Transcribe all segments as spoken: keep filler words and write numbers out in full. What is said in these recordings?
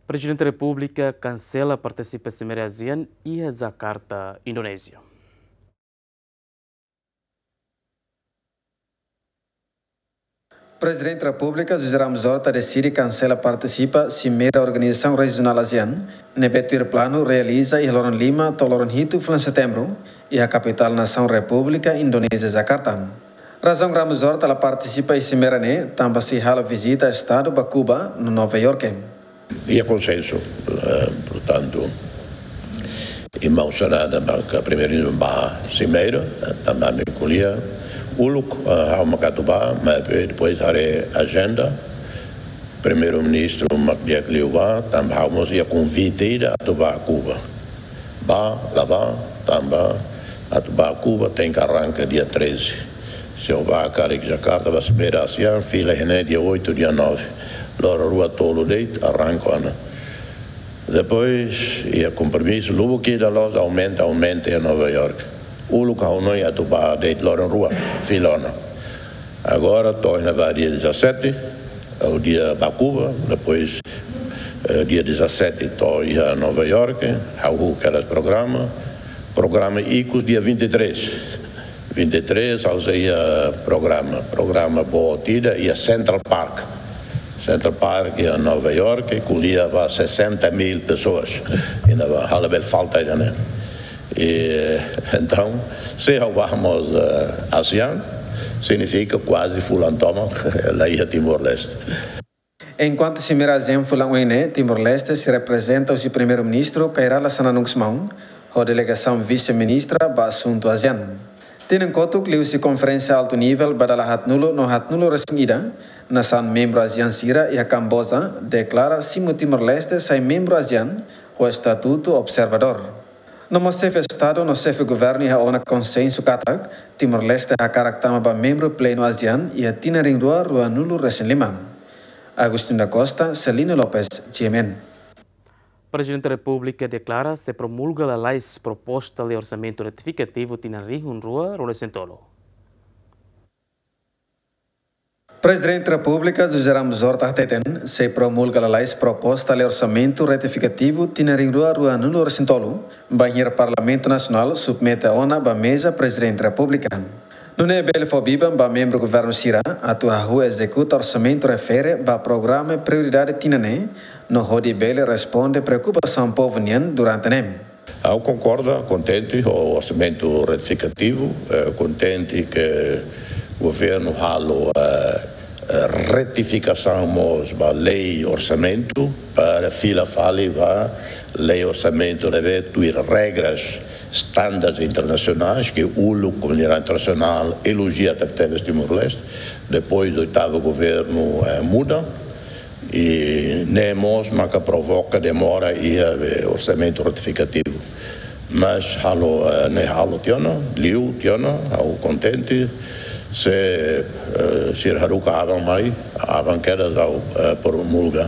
Prezidente Repúblika kansela partisipa simeira ASEAN iha Jakarta, Indonézia. Prezidente Repúblika José Ramos Horta deside kansela partisipa simeira organizasaun rejionál ASEAN, ne'ebé tuir planu realiza iha loron lima to'o loron hitu fulan Setembru, iha kapitál nasaun Repúblika Indonézia, Jakarta. Razaun Ramos Horta la partisipa iha simeira ne'e, tanba sei halo vizita estadu ba Kuba no Nova Iorke. Iha konsensu, eh, portantu, irmaun Sanada ba ka primeiru ba simeira, eh, tanba ami ko'alia uluk, eh, ha'u maka atu bá, mas depois haree ajenda, primeiru-ministru mak di'ak liu bá, tanba ha'u mós iha konvite ida atu bá Kuba. Bá, la bá, tanba atu bá Kuba tenke arranka dia treze. Se ha'u bá karik Jakarta ba simeira ASEAN, fila iha ne'e dia oito, dia nove. Loron rua tolu de'it, arranka ona. Depois, iha kompromisu, lubuk ida loos, aumenta, aumenta iha Nova Iorke. Uluk ha'u hanoin atu bá de'it loron rua, fila ona. Agora, to'o iha ne'ebá dia dezassete, ha'u di'ak bá Kuba, depois, eh, dia dezassete, to'o iha Nova Iorke, ha'u hahú kedas programa, programa ikus dia vinte e três. Vinte e três, ha'u sei iha programa, programa boot ida, iha Central Park. Central Park, iha Nova Iorke, ko'alia ba sessenta mil pessoas. Iha ne'ebá, ha'u labele falta iha ne'e. E, entaun, se ha'u bá mós, eh, ASEAN, signifika kuaze fulan tomak la iha Timor-Leste. Enkuantu simeira ASEAN fulan oin ne'e, Timor-Leste sei reprezenta husi Primeiru-Ministru Kay Rala Xanana Gusmão, ho delegasaun Vise-Ministra ba asuntu ASEAN. Tinan kotuk liuhusi konferénsia altu nivel ba dala haatnulu no haatnulu resin ida, nasaun membru ASEAN sira iha Kamboja deklara simu Timor-Leste sai membru ASEAN ho estatutu observadór. No mós xefe Estadu no xefe Governu iha ona konsensu katak Timor-Leste hakarak tama ba membru plenu ASEAN iha tinan rihun rua ruanulu resin lima. Agostinho da Costa, Celina Lopes, G M N. Prezidente Repúblika deklara sei promulga lalais proposta lei orsamentu retifikativu tinan rihun rua ruanulu resin tolu. Prezidente Repúblika José Ramos Horta hateten, sei promulga lalais proposta lei orsamentu retifikativu tinan rihun rua ruanulu resin tolu, bainhira Parlamentu Nasionál submete ona ba meza Prezidente Repúblika. Nune'e bele fó biban ba membru governu sira atu hahú ezekuta orsamentu refere ba programa prioridade tinan ne'e, no hodi bele responde preokupasaun povu nian durante ne'e. Ha'u konkorda, kontente ho orsamentu retifikativu, eh, kontente ke governu halo, eh, eh, retifikasaun mós ba lei orsamentu para fila fali ba lei orsamentu ne'ebé tuir regras, standards internasionais ke uluk komunidade internasionál elojia tebetebes Timor-Leste. Depois oitavu governu, eh, muda, i ne'e mós maka provoka demora iha, eh, orsamentu retifikativu. Mas halo, eh, ne'e halo tiha ona, liu tiha ona, ha'u kontente. Se, eh, sira haruka aban mai, aban kedas ha'u, eh, promulga.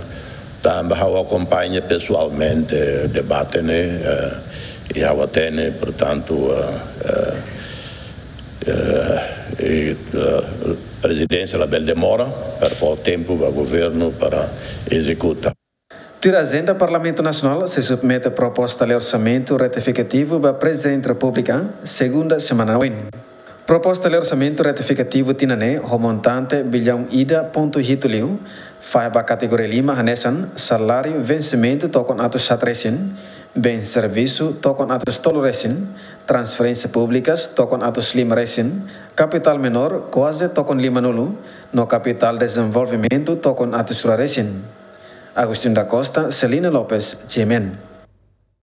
Tanba ha'u akompaña pesoalmente debate ne'e, eh, i ha'u hatene, portantu, eh, eh, eh, i, eh, prezidénsia labele demora, para fó tempu ba governu para ezekuta. Tuir ajenda, Parlamentu Nasionál sei submete proposta lei orsamentu retifikativu ba Prezidente Repúblika, segunda semana oin. Proposta lei orsamentu retifikativu tinan ne'e, ho montante billaun ida pontu hitu liu, fahe ba kategoria lima hanesan saláriu vensimentu tokon atus haat resin, bens servisu tokon atus tolu resin, transferénsia públikas tokon atus lima resin, kapitál menór kuaze tokon limanulu, no kapitál dezenvolvimentu tokon atus rua resin. Agostinho da Costa, Celina Lopes, G M N.